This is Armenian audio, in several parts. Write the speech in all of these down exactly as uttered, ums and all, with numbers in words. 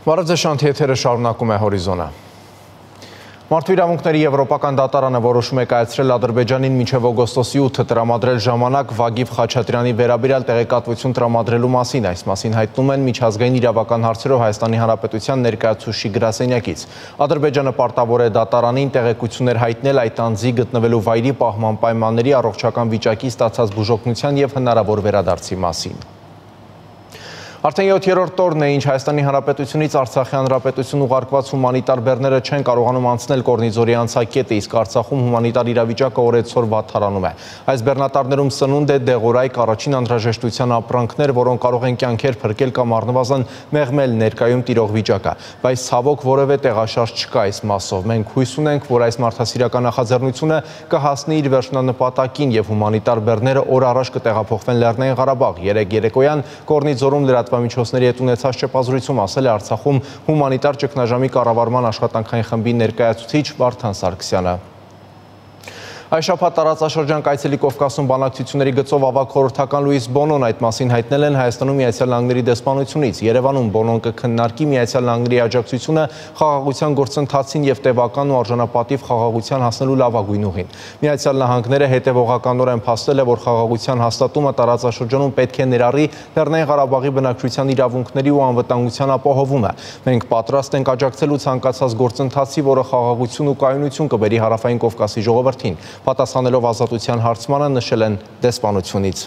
Բարև ձեզ, շանթի եթերը շարունակում է Հորիզոնը։ Մարդու իրավունքների Եվրոպական դատարանը որոշում է կայացրել Ադրբեջանին մինչև օգոստոսի ութը տրամադրել ժամանակ Վագիվ Խաչատրյանի վերաբերյալ տեղեկատվություն տրամադրելու մասին։ Այս մասին հայտնում են միջազգային իրավական հարցերով Հայաստանի Հանրապետության ներկայացուցիչ գրասենյակից։ Ադրբեջանը պարտավոր է դատարանին տեղեկություններ հայտնել այդ անձի գտնվելու վայրի պահման պայմանների, առողջական վիճակի, ստացած բուժօգնության և հնարավոր վերադարձի մասին։ Արդեն յոթերորդ օրն է, ինչ Հայաստանի Հանրապետությունից Արցախի Հանրապետություն ուղարկված հումանիտար բեռները չեն կարողանում անցնել Կորնիձորի անցակետը, իսկ Արցախում հումանիտար իրավիճակը օրեցօր վատթարանում է։ Այս բեռնատարներում սնունդ է, դեղորայք, առաջին անհրաժեշտության ապրանքներ, որոնք կարող են կյանքեր փրկել կամ առնվազն մեղմել ներկայում տիրող վիճակը, բայց ցավոք որևէ տեղաշարժ չկա այս մասով։ Մենք հույս ունենք, որ այս մարդասիրական նախաձեռնությունը կհասնի իր վերջնանպատակին և հումանիտար բեռները օր առաջ կտեղափոխվեն Լեռնային Ղարաբաղ։ Երեկ երեկոյան Կորնիձորում լրատվամիջոցների հետ ունեցած շփազրույցում ասել է Արցախում հումանիտար ճգնաժամի կառավարման աշխատանքային խմբի ներկայացուցիչ Վարդան Սարգսյանը։ Այս շաբաթ տարածաշրջան կայցելի Կովկասում բանակցությունների գծով ավագ խորհրդական Լուիս Բոնոն այդ մասին հայտնել են Հայաստանում Միացյալ Նահանգների դեսպանությունից։ Երևանում Բոնոն կքննարկի Միացյալ Նահանգների աջակցությունը խաղաղության գործընթացին և տևական ու արժանապատիվ խաղաղության հասնելու լավագույն ուղին։ Միացյալ Նահանգները հետևողականորեն փաստել է, որ խաղաղության հաստատումը տարածաշրջանում պետք է ներառի Լեռնային Ղարաբաղի բնակչության իրավունքների ու անվտանգության ապահովումը։ Մենք պատրաստ ենք աջակցելու ցանկացած գործընթացի, որը խաղաղություն ու կայունություն կբերի Հարավային Կովկասի ժողովրդին։ Պատասխանելով ազատության հարցմանը նշել են դեսպանությունից։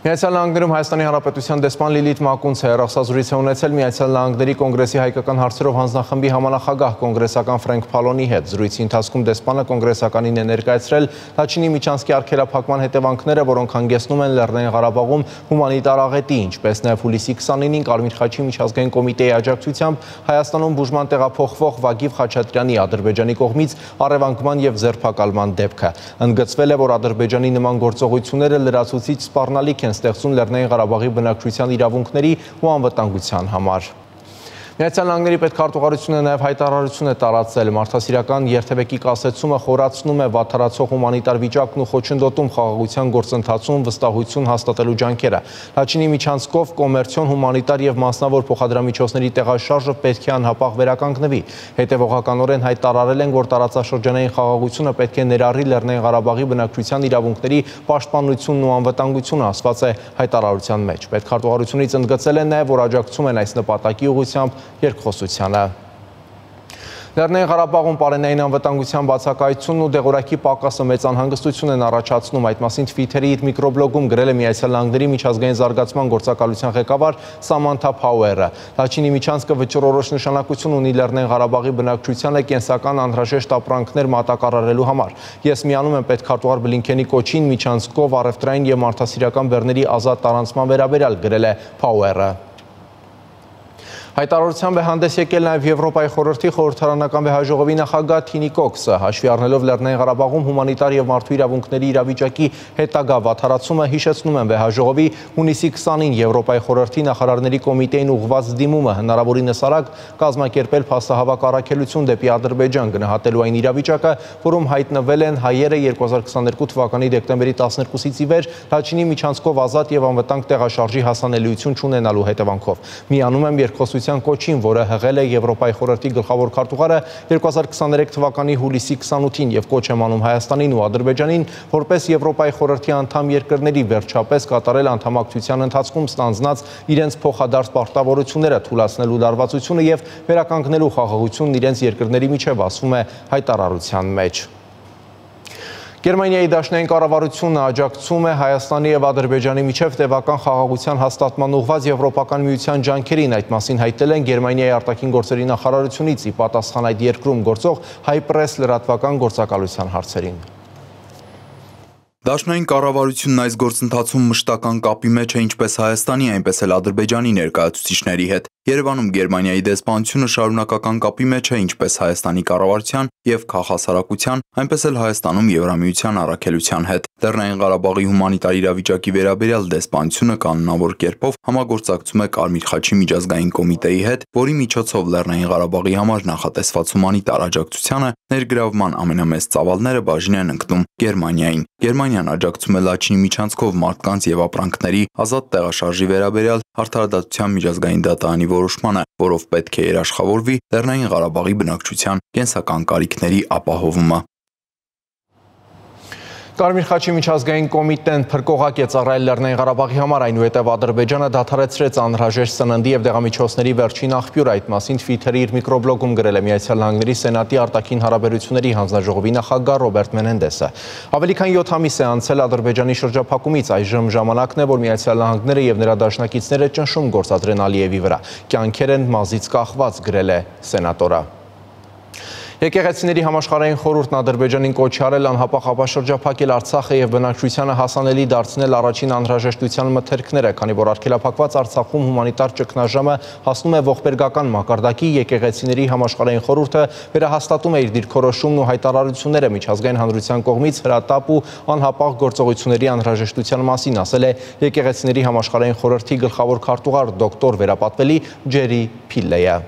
Միացյալ Նահանգներում Հայաստանի Հանրապետության դեսպան Լիլիթ Մակունցը հեռախոսազրույց է ունեցել Միացյալ Նահանգների կոնգրեսի հայկական հարցերով հանձնախմբի համանախագահ կոնգրեսական Ֆրենկ Փալոնի հետ։ Զրույցի ընթացքում դեսպանը կոնգրեսականին է ներկայացրել Լաչինի միջանցքի արգելափակման հետևանքները, որոնք հանգեցնում են Լեռնային Ղարաբաղում հումանիտար աղետի, ինչպես նաև հուլիսի քսանինին Կարմիր խաչի միջազգային կոմիտեի աջակցությամբ Հայաստանում բուժման տեղափոխվող Վագիվ Խաչատրյանի Ադրբեջանի կողմից առևանգման և ձերբակալման դեպքը։ Ընդգծվել է, որ Ադրբեջանի նման գործողությունները լրացուցիչ սպառնալիք են ստեղծում Լեռնային Ղարաբաղի բնակչության իրավունքների ու անվտանգության համար։ Միացյալ Նահանգների պետքարտուղարությունը նաև հայտարարություն է տարածել։ Մարդասիրական երթևեկի կասեցումը խորացնում է վատթարացող հումանիտար վիճակն ու խոչընդոտում խաղաղության գործընթացում վստահություն հաստատելու ջանքերը։ Լաչինի միջանցքով կոմերցիոն, հումանիտար և մասնավոր փոխադրամիջոցների տեղաշարժը պետք է անհապաղ վերականգնվի։ Հետևողականորեն հայտարարել են, որ տարածաշրջանային խաղաղությունը պետք է ներառի Լեռնային Ղարաբաղի բնակչության իրավունքների պաշտպանությունն ու անվտանգությունը, ասված է հայտարարության մեջ։ Պետքարտուղարությունից ընդգծել են նաև, որ աջակցում են այս նպատակի ուղղությամբ երկխոսությանը։ Լեռնային Ղարաբաղում պարենային անվտանգության բացակայությունն ու դեղորայքի պակասը մեծ անհանգստություն են առաջացնում։ Այդ մասին Twitter-ի իր միկրոբլոգում գրել է Միացյալ Նահանգների միջազգային զարգացման գործակալության ղեկավար Սամանթա Փաուերը։ Լաչինի միջանցքը վճռորոշ նշանակություն ունի Լեռնային Ղարաբաղի բնակչությանը կենսական անհրաժեշտ ապրանքներ մատակարարելու համար։ Ես միանում եմ պետքարտուղար Բլինքենի կոչին միջանցքով առևտրային և մարդասիրական բեռների ազատ տարանցման վերաբերյալ, գրել է Փաուերը։ Հայտարարությամբ է հանդես եկել նաև Եվրոպայի խորհրդի խորհրդարանական վեհաժողովի նախագահ Թինի Կոքսը, հաշվի առնելով Լեռնային Ղարաբաղում հումանիտար և մարդու իրավունքների իրավիճակի հետագա վատթարացումը, հիշեցնում են վեհաժողովի հունիսի քսանին Եվրոպայի խորհրդի նախարարների կոմիտեին ուղղված դիմումը հնարավորինս արագ կազմակերպել փաստահավաք առաքելություն դեպի Ադրբեջան, գնահատելու այն իրավիճակը, որում հայտնվել են հայերը երկու հազար քսաներկու թվականի դեկտեմբերի տասներկուսից ի վեր Լաչինի միջանցքով ազատ և անվտանգ տեղաշարժի հասանելիություն չունենալու հետևանքով։ Միանում եմ երկխոսության կոչին, որը հղել է Եվրոպայի խորհրդի գլխավոր քարտուղարը երկու հազար քսաներեք թվականի հուլիսի քսանութին և կոչ եմ անում Հայաստանին ու Ադրբեջանին, որպես Եվրոպայի խորհրդի անդամ երկրների վերջապես կատարել անդամակցության ընթացքում ստանձնած իրենց փոխադարձ պարտավորությունները, թուլացնելու լարվածությունը և վերականգնելու խաղաղությունն իրենց երկրների միջև, ասվում է հայտարարության մեջ։ Գերմանիայի դաշնային կառավարությունը աջակցում է Հայաստանի և Ադրբեջանի միջև տևական խաղաղության հաստատման ուղղված Եվրոպական միության ջանքերին։ Այդ մասին հայտնել են Գերմանիայի արտաքին գործերի նախարարությունից ի պատասխան այդ երկրում գործող Հայ-պրես լրատվական գործակալության հարցերին։ Դաշնային կառավարությունն այս գործընթացում մշտական կապի մեջ է ինչպես Հայաստանի, այնպես էլ Ադրբեջանի ներկայացուցիչների հետ։ Երևանում Գերմանիայի դեսպանությունը շարունակական կապի մեջ է ինչպես Հայաստանի կառավարության և քաղաքասարակության, այնպես էլ Հայաստանում Եվրամիության առաքելության հետ։ Լեռնային Ղարաբաղի հումանիտար իրավիճակի վերաբերյալ դեսպանությունը կանոնավոր կերպով համագործակցում է Կարմիր խաչի միջազգային կոմիտեի հետ, որի միջոցով Լեռնային Ղարաբաղի համար նախատեսված հումանիտար աջակցությանը ներգրավման ամենամեծ ծավալները բաժին են ընկնում Գերմանիային։ Գերմանիան աջակցում է Լաչինի միջանցքով մարդկանց և ապրանքների ազատ տեղաշարժի վերաբերյալ Արդարադատության միջազգային դատարանի որոշմանը, որով պետք է երաշխավորվի Լեռնային Ղարաբաղի բնակչության կենսական կարիքների ապահովումը։ Կարմիր խաչի միջազգային կոմիտեն փրկողակ է ծառայել Լեռնային Ղարաբաղի համար, այնուհետև Ադրբեջանը դադարեցրեց անհրաժեշտ սննդի և դեղամիջոցների վերջին աղբյուրը, այդ մասին Twitter-ի իր միկրոբլոգում գրել է Միացյալ Նահանգների Սենատի արտաքին հարաբերությունների հանձնաժողովի նախագահ Ռոբերտ Մենենդեսը։ Ավելի քան յոթ ամիս է անցել Ադրբեջանի շրջափակումից, այժմ ժամանակն է, որ Միացյալ Նահանգները և նրա դաշնակիցները ճնշում գործադրեն Ալիևի վրա։ Կյանքեր են մազից կախված, գրել է սենատորը։ Եկեղեցիների համաշխարհային խորհուրդն Ադրբեջանին կոչ արել անհապաղ ապաշրջափակել Արցախը եւ բնակչությանը հասանելի դարձնել առաջին անհրաժեշտության մթերքները, քանի որ արգելափակված Արցախում հումանիտար ճգնաժամը հասնում է ողբերգական մակարդակի, եկեղեցիների համաշխարհային խորհուրդը վերահաստատում է իր դիրքորոշումն ու հայտարարությունները միջազգային հանրության կողմից հրատապ ու անհապաղ գործողությունների անհրաժեշտության մասին, ասել է եկեղեցիների համաշխարհային խորհրդի գլխավոր քարտուղար դոկտոր վերապատվելի Ջերի Փիլլեյը։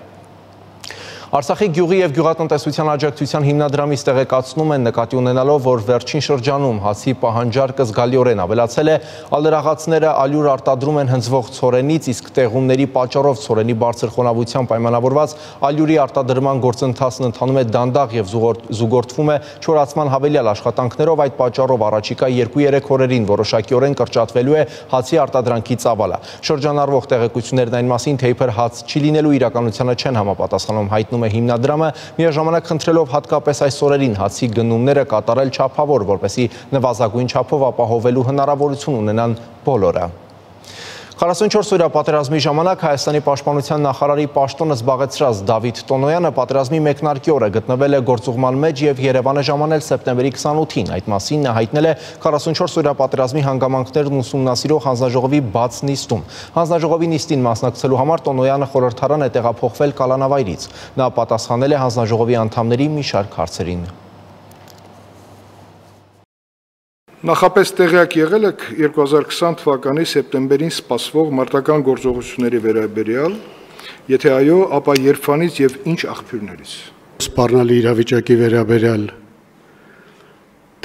Արցախի գյուղի և գյուղատնտեսության աջակցության հիմնադրամից տեղեկացնում են նկատի ունենալով, որ վերջին շրջանում հացի պահանջարկը զգալիորեն ավելացել է, ալերաղացները ալյուր արտադրում են հնձվող ցորենից, իսկ տեղումների պատճառով ցորենի բարձր խոնավությամբ պայմանավորված ալյուրի արտադրման գործընթացն ընթանում է դանդաղ և զուգորդվում է չորացման հավելյալ աշխատանքներով, այդ պատճառով առաջիկա երկու-երեք օրերին որոշակիորեն կրճատվելու է հացի արտադրանքի ծավալը։ Շրջանառվող տեղեկություններն այն մասին, թե իբր հաց չի լինելու իրականությանը չեն համապատասխանում, հայտնում է հիմնադրամը, միաժամանակ խնդրելով հատկապես այս օրերին հացի գնումները կատարել չափավոր, որպեսզի նվազագույն չափով ապահովելու հնարավորություն ունենան բոլորը։ քառասունչորս օրյա պատերազմի ժամանակ Հայաստանի պաշտպանության նախարարի պաշտոնը զբաղեցրած Դավիթ Տոնոյանը պատերազմի մեկնարկի օրը գտնվել է գործուղման մեջ և Երևան է ժամանել սեպտեմբերի քսանութին։ Այդ մասին նա հայտնել է քառասունչորս օրյա պատերազմի հանգամանքներն ուսումնասիրող հանձնաժողովի բաց նիստում։ Հանձնաժողովի նիստին մասնակցելու համար Տոնոյանը խորհրդարան է տեղափոխվել կալանավայրից։ Նա պատասխանել է հանձնաժողովի անդամների մի շարք հարցերին։ Նախապես տեղյակ եղել եք երկու հազար քսան թվականի սեպտեմբերին սպասվող մարտական գործողությունների վերաբերյալ, եթե այո, ապա երբանից եւ ինչ աղբյուրներից։ Սպառնալի իրավիճակի վերաբերյալ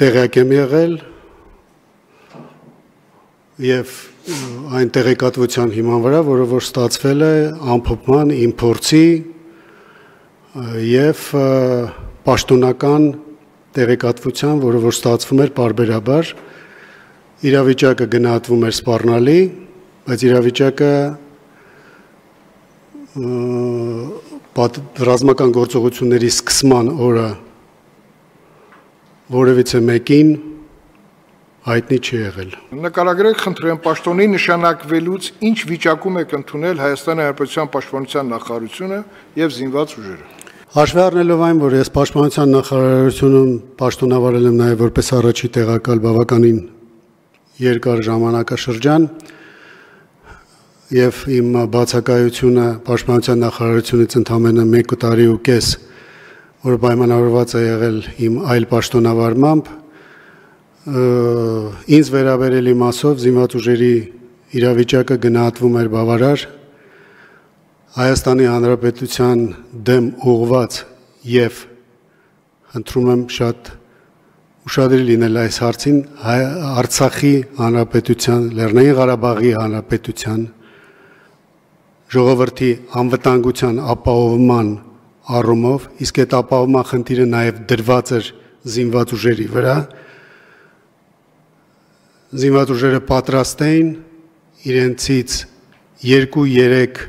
տեղյակ եմ եղել եւ այն տեղեկատվության հիման վրա, որը որ ստացվել է ամփոփման իմ փորձի եւ պաշտոնական տեղեկատվության, որը որ ստացվում էր պարբերաբար, իրավիճակը գնահատվում էր սպառնալի, բայց իրավիճակը ռազմական գործողությունների սկսման օրը որևիցե մեկին հայտնի չի եղել։ Նկարագրեք, խնդրեմ, պաշտոնի նշանակվելուց ինչ վիճակում եք ընդունել Հայաստանի Հանրապետության պաշտպանության նախարարությունը եւ զինված ուժերը։ Հաշվի առնելով այն, որ ես պաշտպանության նախարարությունում պաշտոնավարել եմ նաև որպես առաջի տեղակալ բավականին երկար ժամանակաշրջան եւ իմ բացակայությունը պաշտպանության նախարարությունից ընդամենը մեկ տարի ու կես, որ պայմանավորված է եղել իմ այլ պաշտոնավարմամբ, ինձ վերաբերելի մասով զինված ուժերի իրավիճակը գնահատվում էր բավարար, Հայաստանի Հանրապետության դեմ ուղղված եւ խնդրում եմ շատ ուշադիր լինել այս հարցին Արցախի Հանրապետության, Լեռնային Ղարաբաղի Հանրապետության ժողովրդի անվտանգության ապահովման առումով, իսկ այդ ապահովման խնդիրը նաեւ դրված էր զինված ուժերի վրա, զինված ուժերը պատրաստ էին իրենցից երկու-երեք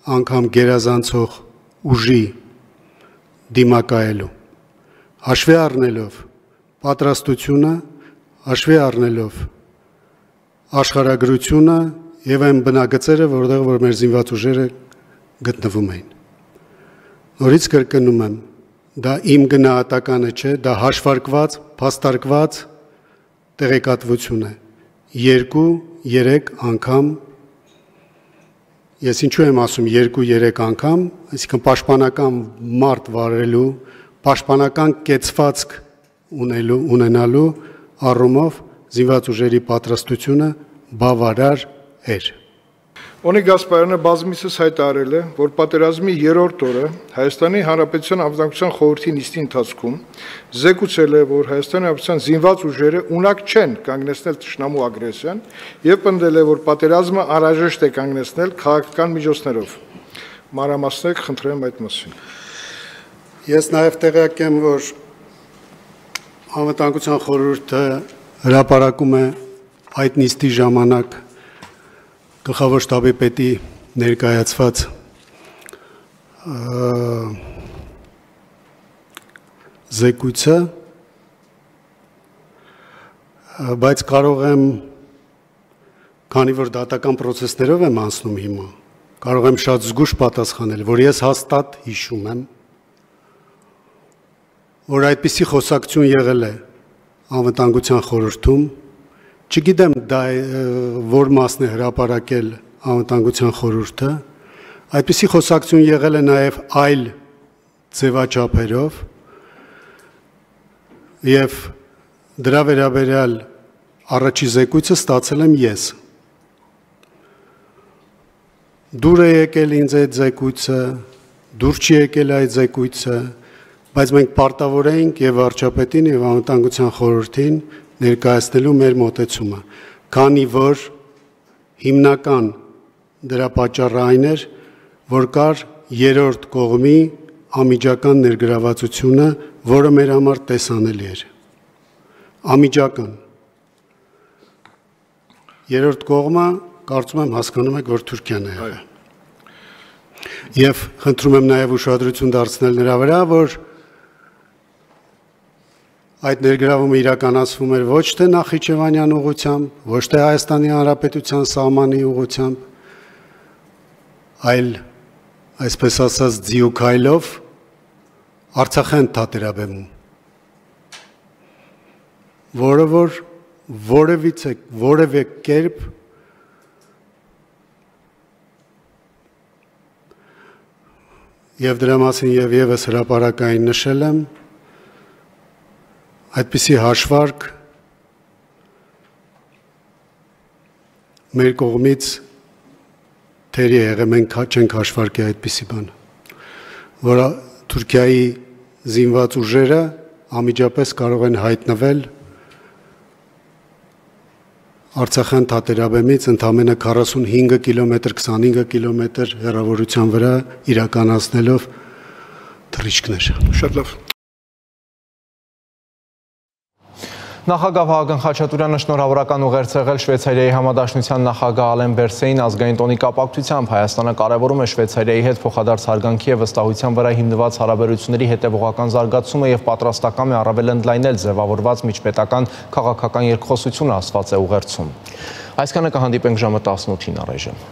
անգամ գերազանցող ուժի դիմակայելու, հաշվի առնելով պատրաստությունը, հաշվի առնելով աշխարհագրությունը եւ այն բնագծերը, որտեղ որ մեր զինված ուժերը գտնվում էին։ Նորից կրկնում եմ, դա իմ գնահատականը չէ, դա հաշվարկված, փաստարկված տեղեկատվություն է։ Երկու-երեք անգամ Ես ինչու եմ ասում երկու-երեք անգամ, այսինքն պաշտպանական մարտ վարելու, պաշտպանական կեցվածք ունելու, ունենալու առումով զինված ուժերի պատրաստությունը բավարար էր։ Օնիկ Գասպարյանը բազմիցս հայտարարել է, որ պատերազմի երրորդ օրը Հայաստանի Հանրապետության անվտանգության խորհրդի նիստի ընթացքում զեկուցել է, որ Հայաստանի Հանրապետության զինված ուժերը ունակ չեն կանգնեցնել թշնամու ագրեսիան եւ պնդել է, որ պատերազմը անհրաժեշտ է կանգնեցնել քաղաքական միջոցներով։ մանրամասնեք, խնդրեմ այդ մասին։ Ես նաև տեղյակ եմ, որ Անվտանգության խորհուրդը հրապարակում է այդ նիստի ժամանակ գլխավոր շտաբի պետի ներկայացված զեկույցը, բայց կարող եմ, քանի որ դատական պրոցեսներով եմ անցնում հիմա, կարող եմ շատ զգուշ պատասխանել, որ ես հաստատ հիշում եմ, որ այդպիսի խոսակցություն եղել է Անվտանգության խորհրդում, չգիտեմ դա որ մասն է հրապարակել Անվտանգության խորհուրդը, այդպիսի խոսակցություն եղել է նաև այլ ձևաչափերով եւ դրա վերաբերյալ առաջի զեկույցը ստացել եմ ես։ Դուր է եկել ինձ այդ զեկույցը, դուր չի եկել այդ զեկույցը, բայց մենք պարտավոր էինք եւ վարչապետին եւ Անվտանգության խորհրդին ներկայացնելու մեր մոտեցումը, քանի որ հիմնական դրա պատճառը այն էր, որ կար երրորդ կողմի ամիջական ներգրավվածությունը, որը մեր համար տեսանելի էր։ Ամիջական։ Երրորդ կողմը, կարծում եմ հասկանում եք, որ Թուրքիան է եղել։ Եվ խնդրում եմ նաև ուշադրություն դարձնել նրա վրա, որ այդ ներգրավումը իրականացվում էր ոչ թե Նախիջևանյան ուղղությամբ, ոչ թե Հայաստանի Հանրապետության սահմանի ուղղությամբ, այլ այսպես ասած ձիուքայլով Արցախյան թատերաբեմում, որը որ որևիցե որևէ կերպ եւ դրա մասին եւ եւս հրապարակային նշել եմ, այդպիսի հաշվարկ մեր կողմից թերի եղել, մենք չենք հաշվարկի այդպիսի բան, որ Թուրքիայի զինված ուժերը ամիջապես կարող են հայտնվել Արցախյան թատերաբեմից ընդամենը քառասունհինգ կիլոմետր, քսանհինգ կիլոմետր հեռավորության վրա իրականացնելով թռիչքներ։ Շատ լավ։ Նախագահ Վահագն Խաչատուրյանը շնորհավորական ուղերձ եղել Շվեյցարիայի համադաշնության նախագահ Ալեն Բերսեին ազգային տոնի կապակցությամբ Հայաստանը կարևորում է Շվեյցարիայի հետ փոխադարձ հարգանքի եւ վստահության վրա հիմնված հարաբերությունների հետեւողական զարգացումը եւ պատրաստական է առավել ընդլայնել ձևավորված միջպետական քաղաքական երկխոսությունը, ասված է ուղերձում։ Այսքանը կհանդիպենք ժամը տասնութին առայժմ։